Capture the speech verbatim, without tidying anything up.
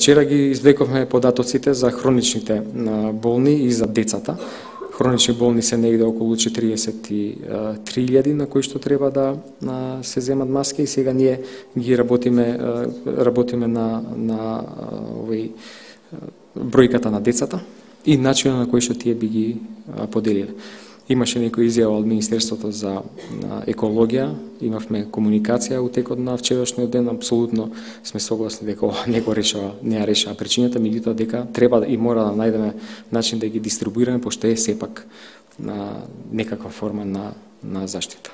вчера ги извлековме податоците за хроничните болни и за децата. Хронични болни се негде околу четириесет и три илјади на кои што треба да се земат маски и сега ние ги работиме работиме на на овој бројката на децата и начинот на кој што тие би ги поделиле. Имаше некоја изјава од Министерството за екологија, имавме комуникација у текот на вчерашниот ден, апсолутно сме согласни дека ова не го решава, не ја решава причината, меѓутоа дека треба и мора да најдеме начин да ги дистрибуираме, пошто е сепак на некаква форма на на заштита.